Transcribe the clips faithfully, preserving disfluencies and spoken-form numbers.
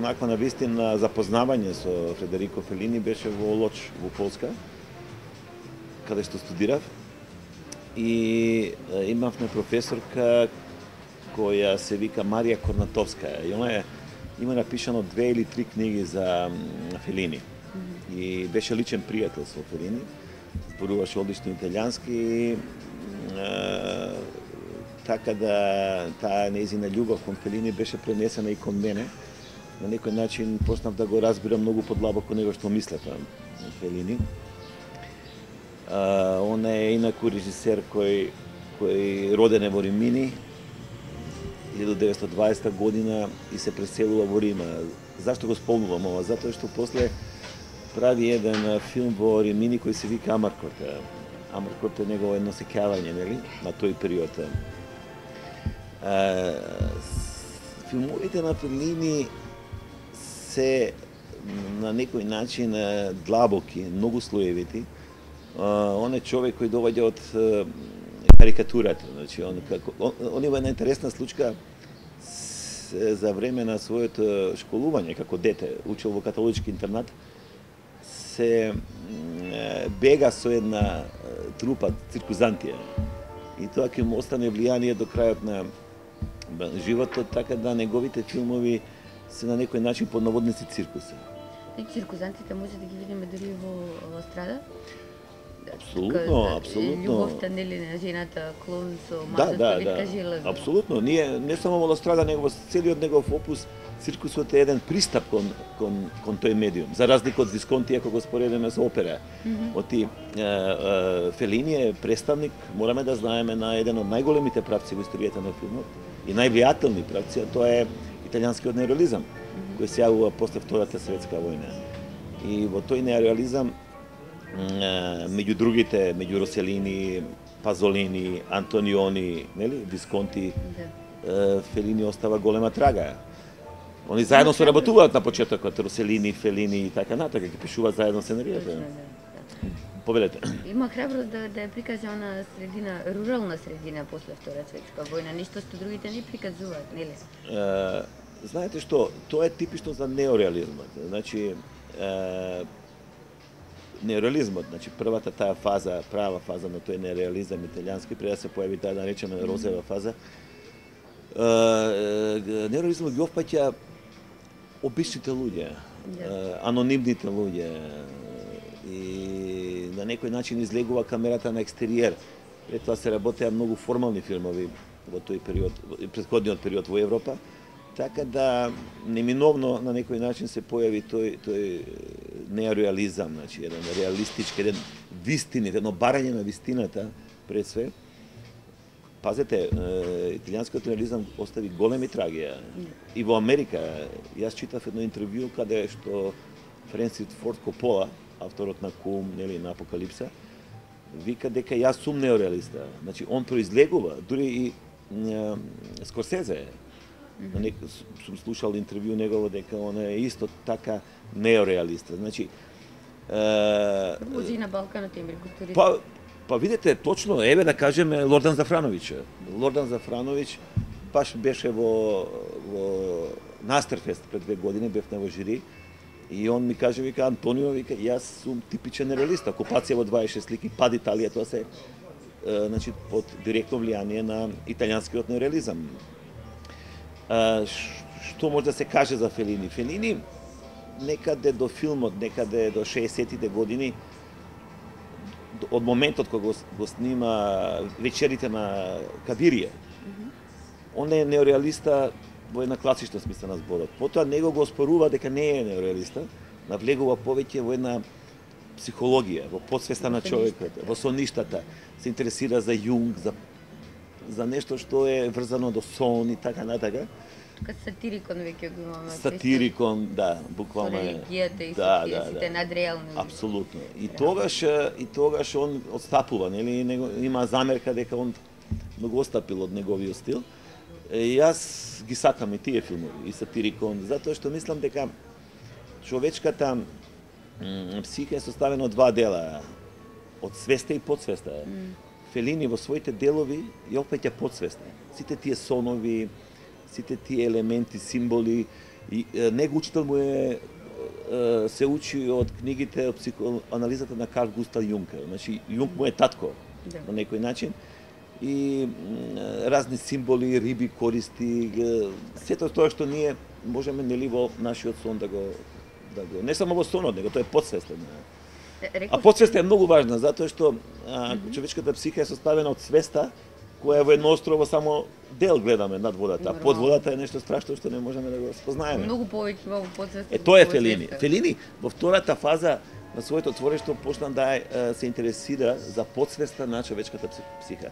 онаква на вистина запознавање со Федерико Фелини беше во Лоч, во Полска, каде што студирав. И имавме професорка која се вика Марија Корнатовска. И она е, има напишано две или три книги за Фелини. Mm-hmm. И беше личен пријател со Фелини. Зборуваше одлично италијански. И, е, така да таа нејзина љубов кон Фелини беше пренесена и кон мене. На некој начин почнав да го разбирам многу подлабоко него што мислев Фелини. Uh, он е инаку режисер кој, кој роден е во Римини, илјадум деветстотини и дваесета година и се преселува во Рима. Зашто го спомнувам ова? Затоа што после прави еден филм во Римини кој се вика Амаркорт. Амаркорт е негово едно сеќавање, нели, на тој период. Uh, филмовите на Фелини се на некој начин длабоки, многу слоевити. Uh, он е човек кој доаѓа од uh, карикатурата. Значи, он, како, он, он има една интересна случка с, за време на своето школување како дете, учел во католички интернат, се uh, бега со една uh, трупа циркузантија. И тоа ќе му остане влијание до крајот на животот, така да неговите филмови се на некој начин поднаводници циркуса. И циркузантите може да ги видиме дури во страда? Апсолутно, апсолутно. Љубовта нели на жената клон со да, мажот да, витка да. железо. Апсолутно. Ние не само во Страда, него во целиот негов опус циркусот е еден пристап кон кон кон тој медиум. За разлика од Висконти, ако го споредиме со опера. Mm -hmm. Оти е, е, Фелини е представник, мораме да знаеме, на еден од најголемите правци во историјата на филмот и највлијателни правци, а тоа е италијанскиот неореализам, mm -hmm. кој се јавува после Втората светска војна. И во тој неореализам меѓу другите, меѓу Роселини, Пазолини, Антониони, нели, Висконти, да. Фелини остава голема трага. Они заедно соработуваат на почетокот, Роселини, Фелини и така натака, ги пишуваат заедно сценаријата. Да, да. Повелете. Има храброст да, да ја прикаже она средина, рурална средина после Втора светска војна, нешто што другите не приказуваат, нели? Uh, знаете што, тоа е типично за неореализмот. Значи, uh, неореализмот, значи првата таа фаза, права фаза на тој нереализам италијански, пред да се појави таа да речеме розева фаза, неореализмот ги опфаќа обичните луѓе, yeah. анонимните луѓе и на некој начин излегува камерата на екстериер. Пред тоа се работеа многу формални филмови во тој период, претходниот период во Европа, така да неминовно на некој начин се појави тој тој неореализам, значи еден реалистички, еден вистини, едно барање на вистината пред све. Пазете, италијанскиот реализам остави големи трагија. И во Америка, јас читав едно интервју каде што Френсис Форд Копола, авторот на Кум, нели, на Апокалипса, вика дека јас сум неореалиста. Значи он произлегува, дури и е, Скорсезе. Mm -hmm. Сум слушал интервју негово дека он е исто така неореалиста. Значи Може и на Балканот има култури. Па па видете точно, еве да кажеме Лордан Зафрановиќ. Лордан Зафрановиќ баш беше во во Настерфест пред две години, бев на во жири и он ми каже, вика, Антонио, вика, јас сум типичен нереалист. Окупација во дваесет и шест слики, пад Италија, тоа се е, значи под директно влијание на италијанскиот неореализам. А, што може да се каже за Фелини? Фелини некаде до филмот, некаде до шеесеттите години, од моментот кога го, го снима Вечерите на Кадирија, mm -hmm. он е неореалиста во една класична смисла на зборот. Потоа него го оспорува дека не е неореалиста, навлегува повеќе во една психологија, во подсвеста на човекот, во соништата, се интересира за Јунг, за за нешто што е врзано до сон и така натака. Тука сатирикон веќе го имаме. Сатирикон, да, буквално е. Религијата и да, сите, да, сите да. надреални. Апсолутно. И тогаш и тогаш он отстапува, нели, него има замерка дека он многу отстапил од неговиот стил. И јас ги сакам и тие филмови, и сатирикон, затоа што мислам дека човечката психика е составена од два дела, од свеста и подсвеста. Mm. Фелини во своите делови ја опаќа подсвеста. Сите тие сонови, сите тие елементи, символи И е, него учител му е, е се учи од книгите од психоанализата на Карл Густав Јунг. Значи Јунг му е татко Да. на некој начин. И м, разни символи, риби користи, е, сето тоа што ние можеме нели во нашиот сон да го да го не само во сонот, него тоа е подсвестен. А Реков, подсвеста е многу важна затоа што а, човечката психика е составена од свеста која во едно острово само дел гледаме над водата, а под водата е нешто страшно што не можеме да го спознаеме. многу повеќе во подсвеста. Е тоа е Фелини. Фелини во втората фаза на своето творештво почна да е, се интересира за подсвеста на човечката психика.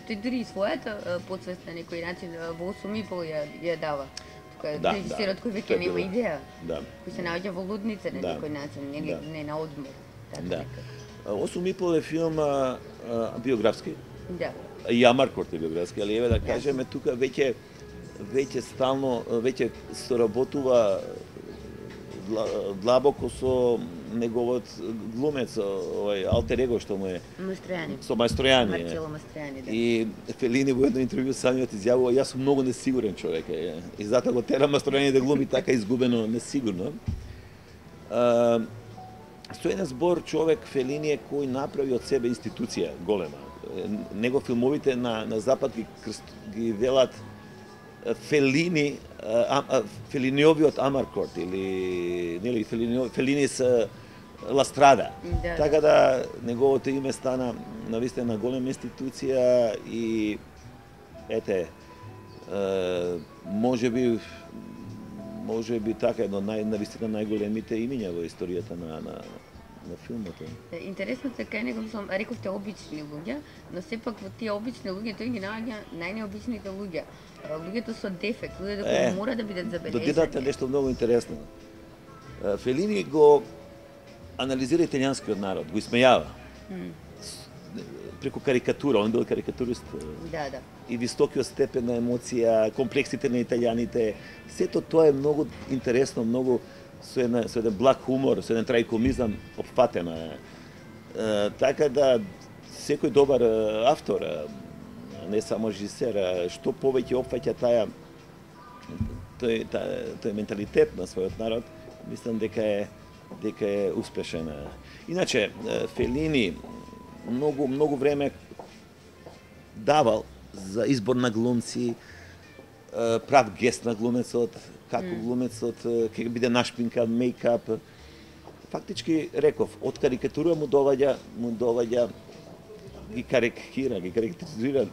Тој дури и својата е, подсвест на некој начин е, во осум и пол ја, ја дава. Тука Да, режисерот да. кој Тоа веќе е нема било. идеја, Да. кој се наоѓа во лудница на Да. некој начин, нели Да. не на одмор. Така Да. некако. осум и пол е филм а, а, биографски. Да. И Амаркорт е биографски, али еве да кажеме тука веќе веќе стално веќе соработува дла- длабоко со неговот глумец, овој алтер его што му е Мастројани. со Мајстројани. Марчело Мастројани, да. И Фелини во едно интервју самиот изјавува јас сум многу несигурен човек е. И затоа го тера Мастројани да глуми така изгубено, несигурно. А, со еден збор човек Фелини е кој направи од себе институција голема. Е, Него филмовите на на запад ги крст, ги велат е, Фелини, а, а, Фелиниовиот Амаркорт или нели Фелини Фелини се Ластрада. Да. Така да неговото име стана навистина голема институција и ете е, може би може би така едно нај навистина најголемите имиња во историјата на на на филмот. Е, Интересното е кај него, мислам, рековте обични луѓе, но сепак во тие обични луѓе тој ги наоѓа најнеобичните луѓе. А, Луѓето со дефект, луѓето кои Е, мора да бидат Додидате забележани. нешто многу интересно. Е, Фелини го анализира италијанскиот народ, го исмејава. С- Преку карикатура, он бил карикатурист. Да, да. И високиот степен на емоција, комплексите на италијаните, сето тоа е многу интересно, многу со, една, со еден благ хумор, со еден трајкомизам опфатено е. Е, така да секој добар е, автор, е, не само режисер, е, што повеќе опфаќа таа тој, та, тој менталитет на својот народ, мислам дека е дека е успешен. е. Иначе е, Фелини многу многу време давал за избор на глумци, е, прав гест на глумецот, како глумецот е, ќе биде нашпинкан, мејкап. Фактички реков, од карикатура му доваѓа, му доваѓа ги карикира, ги карикатурира,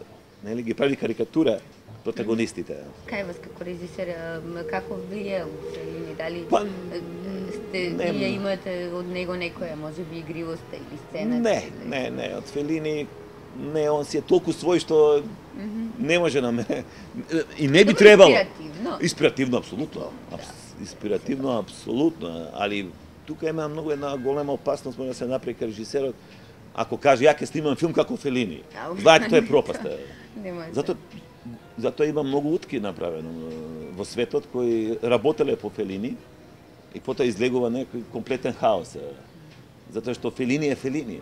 нели ги прави карикатура протагонистите. Кај вас како режисер, а, м, како влијае Фелини? Дали Па, е, сте, не, вие имате од него некоја, може би, игривост или сцена? Не, не, не, од Фелини не, он си е толку свој што не може на мене. И не би Добро, требало. инспиративно. Инспиративно, апсолутно. Апс- Инспиративно, апсолутно. Али тука има многу една голема опасност може да се направи кај режисерот. Ако каже ја ќе снимам филм како Фелини. Ау. Знаете, тоа е пропаста. Нема. Затоа затоа има многу утки направено е, во светот кои работеле по Фелини и потоа излегува некој комплетен хаос. е. Затоа што Фелини е Фелини.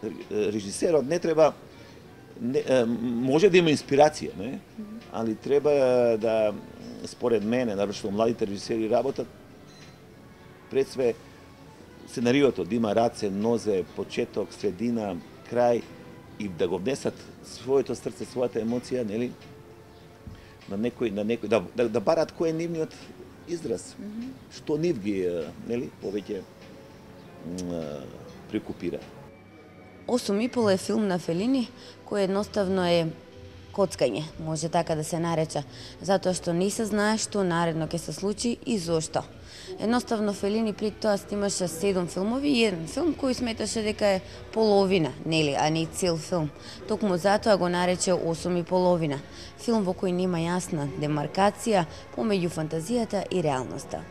Р- Режисерот не треба не, е, може да има инспирација, не? Али треба да според мене, навршено младите режисери работат пред све сценариото да има раце, нозе, почеток, средина, крај и да го внесат своето срце, својата емоција, нели? На некој, на некој, да, да, да барат кој е нивниот израз. Што нив ги, е, нели, повеќе м, е, прекупира. осум и пол е филм на Фелини кој едноставно е коцкање, може така да се нарече, затоа што не се знае што наредно ќе се случи и зошто. Едноставно Фелини пред тоа снимаше седум филмови и еден филм кој сметаше дека е половина, нели, а не цел филм. Токму затоа го нарече осум и половина. Филм во кој нема јасна демаркација помеѓу фантазијата и реалноста.